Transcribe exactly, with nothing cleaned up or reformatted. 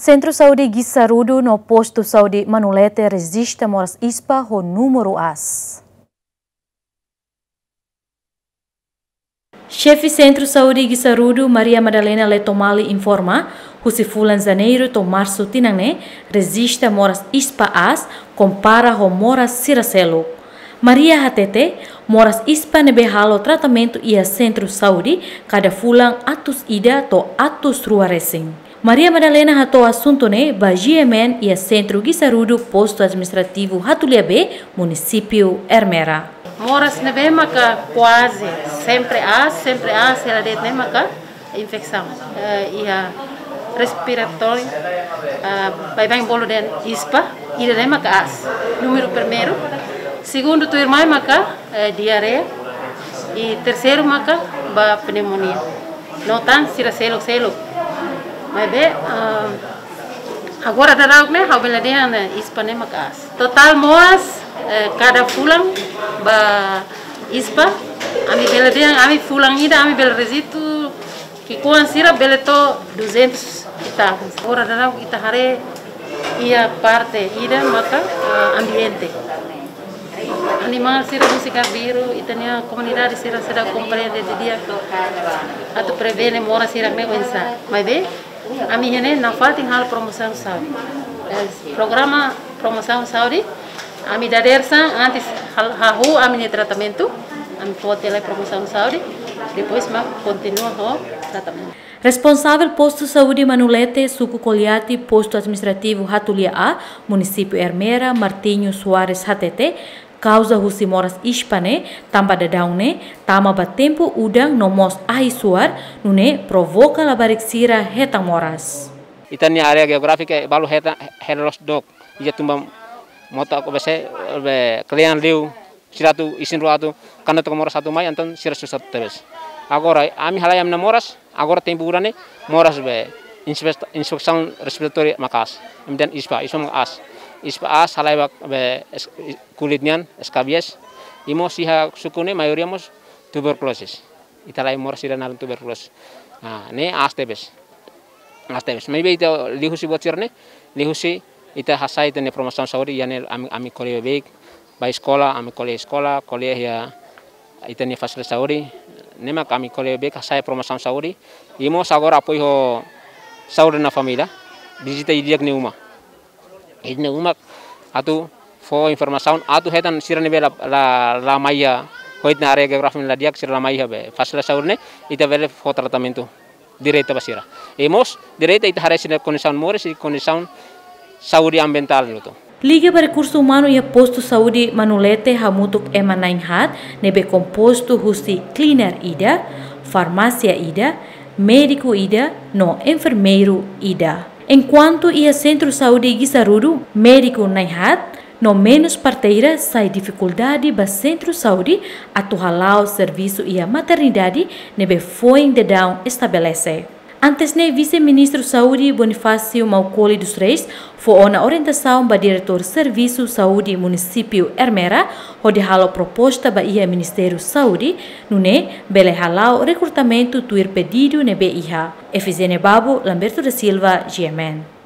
Sentru Saúde Guissarudo no Postu Saúde Manulete rejista moras ispa ho númeru aas. Xefe Sentru Saúde Guissarudo, Maria Madalena Letomali informa, husi fulan Janeiru to'o Marsu tinan ne'e, rejista moras ispa aas, kompara ho moras sira seluk. Maria hatete, moras ispa ne'ebé halo tratamentu iha sentru saúde, kada fulan atus ida to'o atus rua resin. Maria Madalena hato'o asuntu ne'e ba G M N iha Sentru Guissarudo, Postu Administrativu Hatulia B, Munisípiu Ermera. Moras ne'ebé maka kuaze sempre aas, sempre aas, hela de'it ne'e maka infesaun. Eh, iha respiratóriu, ah, baibain bolu dehan ispa, ida-ne'e maka aas. Númeru primeiru, segundu tuirmai maka, eh, diarreia, i terseiru maka ba pneumonia. No tan sira seluk-seluk. Maibé, ah, agora daudaun ne'e, ha'u bele dehan ne'e, ispa ne'e maka aas. Totál moras, eh, kada fulan ba ispa, ami bele dehan, ami fulan ida, ami bele rejista, ki'ikoan sira bele to'o duzentus i tal. Agora daudaun ita haree iha parte ida maka, eh, ambiente. Animál sira husi karbiru, ita-nia komunidade sira seidauk komprende didi'ak atu prevene moras sira-ne'e oinsá. Maibé, ami iha ne'e nafatin halo promosaun saúde. Eh, programa promosaun saúde, ami dadeer-saan antes hal-, hahú ami-nia tratamentu, ami foti lai promosaun saúde, depois mak kontinua ho tratamentu. Responsavel Postu Saúde Manulete, Suku Koliati, Postu Administrativu Hatulia A, Munisípiu Ermera, Martinho Soares hatete, kauza husi moras ispa ne'e, tanba daudaun ne'e tama ba tempu udan no mós ahi-suar, nune'e provoka labarik sira hetan moras. Ita-nia área jeográfika balu hetan hela loos dook, iha tumba mota ko bese be kle'an liu, sira atu isin-rua atu, kuandu to'o moras atu mai, entaun sira susar tebes. Agora, ami halai ami-nia moras, agora tempu udan ne'e, moras be, infesta-, infesaun respiratória maka aas. Ami dehan ispa, ispa maka aas. Ispa aas, halai ba, be, es-, kulit nian, eskabies. I mós iha suku ne'e, maioria mós tuberkulosis. Ita halai moras sira naran tuberkulosis. Ah, ne'e aas tebes. Aas tebes. Maibé ita liuhusi buat sira-ne'e, liuhusi ita hasa'e ita-nia promosaun saúde, iha ne'e ami, ami ko'alia beibeik, ba eskola, ami ko'alia eskola, ko'alia iha ita-nia fasilidade saúde, ne'e mak ami ko'alia beibeik hasa'e promosaun saúde, i mós agora apoiu ho Saúde na Família, vizita di'ak nia uma. Nia uma atu fó informasaun, atu hetan sira ne'ebé la, la, la mai iha, ho ita-nia área jeográfika la di'ak sira la mai iha be fasilidade saúde ne'e, ita bele fó tratamentu direta ba sira. I mós, direta ita haree sira-nia kondisaun moris i kondisaun saúde ambientál hotu. Liga ba rekursu umanu iha Postu Saúde Manulete hamutuk ema na'in-haat, ne'ebé kompostu husi cleaner ida, farmásia ida, médiku ida, no enfermeiru ida. Enkuantu iha Sentru Saúde Guissarudo, médiku na'in-haat, no menus parteira sai difikuldade ba sentru saúde atu hala'o servisu iha maternidade ne'ebé foin daudaun estabelese. Antes ne'e, Vise-Ministru Saúde Bonifácio Maukoli dos Reis fó ona orientasaun ba Diretór Servisu Saúde Munisípiu Ermera, hodi halo proposta ba iha Ministériu Saúde, nune'e bele hala'o rekrutamentu tuir pedidu ne'ebé iha. Efigénia Babo, Lamberto da Silva, G M N.